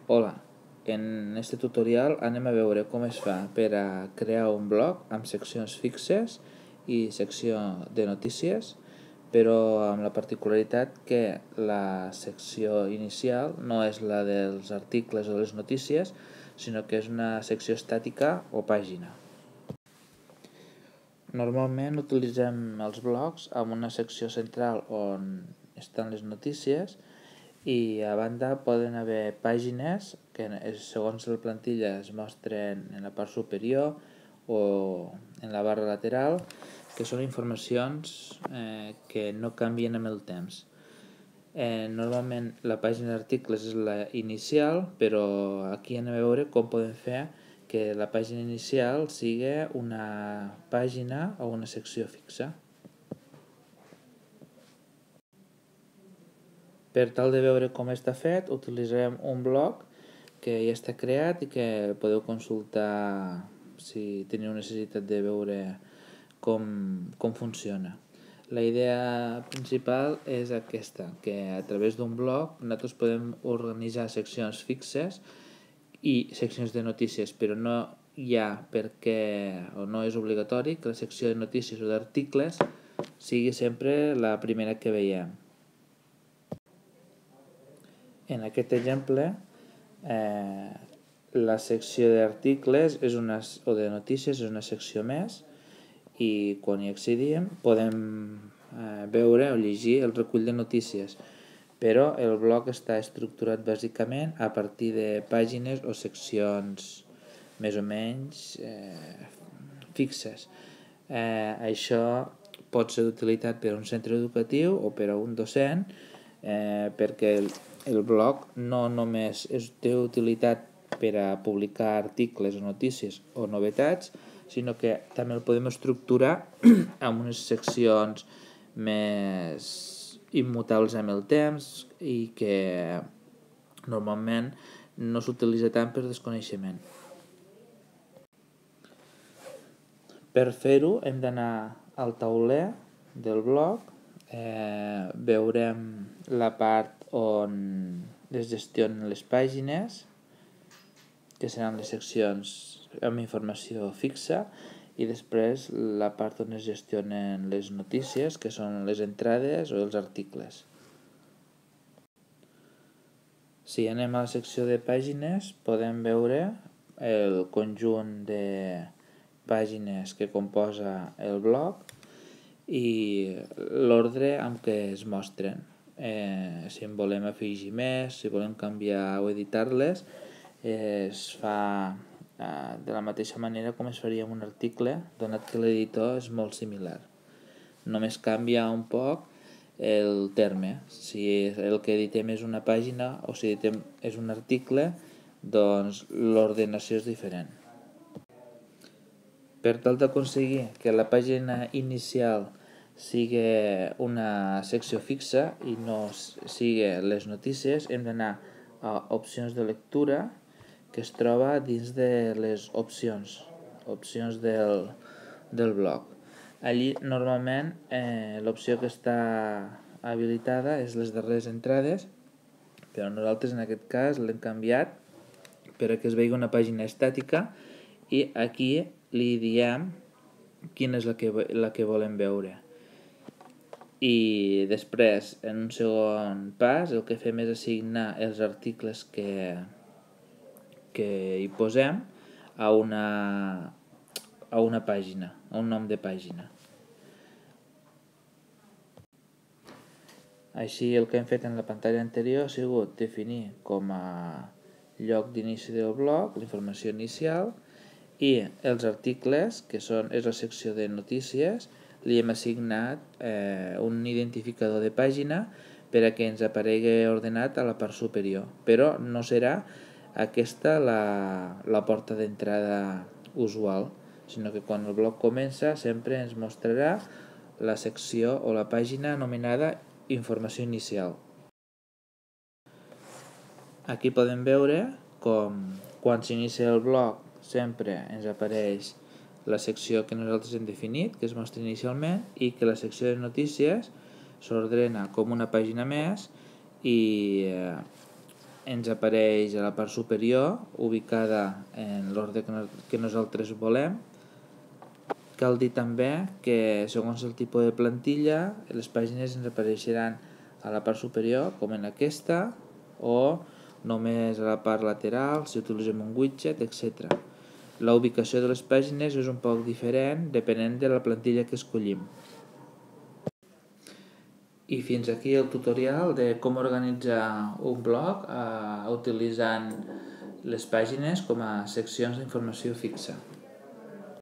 Hola, en este tutorial anem a veure com es fa per a crear un blog amb seccions fixes i secció de notícies, però amb la particularitat que la secció inicial no és la dels articles o les notícies, sinó que és una secció estàtica o pàgina. Normalment utilitzem els blogs amb una secció central on estan les notícies i a banda poden haver pàgines que segons la plantilla es mostren en la part superior o en la barra lateral, que són informacions que no canvien amb el temps. Normalment la pàgina d'articles és la inicial, però aquí anem a veure com podem fer que la pàgina inicial sigui una pàgina o una secció fixa. Per tal de veure com està fet, utilitzarem un blog que ja està creat i que podeu consultar si teniu necessitat de veure com funciona. La idea principal és aquesta, que a través d'un blog nosaltres podem organitzar seccions fixes i seccions de notícies, però no hi ha o no és obligatori que la secció de notícies o d'articles sigui sempre la primera que veiem. En aquest exemple, la secció d'articles o de notícies és una secció més i quan hi accedim podem veure o llegir el recull de notícies, però el blog està estructurat bàsicament a partir de pàgines o seccions més o menys fixes. Això pot ser d'utilitat per a un centre educatiu o per a un docent, perquè el blog no només té utilitat per a publicar articles o notícies o novetats, sinó que també el podem estructurar amb unes seccions més immutables amb el temps i que normalment no s'utilitza tant per desconeixement. Per fer-ho hem d'anar al tauler del blog, veurem la part on es gestionen les pàgines, que seran les seccions amb informació fixa, i després la part on es gestionen les notícies, que són les entrades o els articles. Si anem a la secció de pàgines, podem veure el conjunt de pàgines que composa el blog i l'ordre amb què es mostren. Si en volem afegir més, si volem canviar o editar-les, es fa de la mateixa manera com es faria amb un article, donat que l'editor és molt similar. Només canvia un poc el terme. Si el que editem és una pàgina o si editem és un article, doncs l'ordenació és diferent. Per tal d'aconseguir que la pàgina inicial sigui una secció fixa i no sigui les notícies, hem d'anar a opcions de lectura, que es troba dins de les opcions del blog. Allí normalment l'opció que està habilitada és les darreres entrades, però nosaltres en aquest cas l'hem canviat per a que es vegi una pàgina estàtica i aquí li diem quina és la que volem veure. I després, en un segon pas, el que fem és assignar els articles que hi posem a una pàgina, a un nom de pàgina. Així el que hem fet en la pantalla anterior ha sigut definir com a lloc d'inici del blog la informació inicial i els articles, que és la secció de notícies, li hem assignat un identificador de pàgina per a que ens aparegui ordenat a la part superior, però no serà aquesta la porta d'entrada usual, sinó que quan el blog comença sempre ens mostrarà la secció o la pàgina anomenada informació inicial. Aquí podem veure com quan s'inicia el blog sempre ens apareix la secció que nosaltres hem definit, que es mostra inicialment, i que la secció de notícies s'ordena com una pàgina més i ens apareix a la part superior, ubicada en l'ordre que nosaltres volem. Cal dir també que segons el tipus de plantilla, les pàgines ens apareixeran a la part superior, com en aquesta, o només a la part lateral, si utilitzem un widget, etc. La ubicació de les pàgines és un poc diferent depenent de la plantilla que escollim. I fins aquí el tutorial de com organitzar un blog utilitzant les pàgines com a seccions d'informació fixa.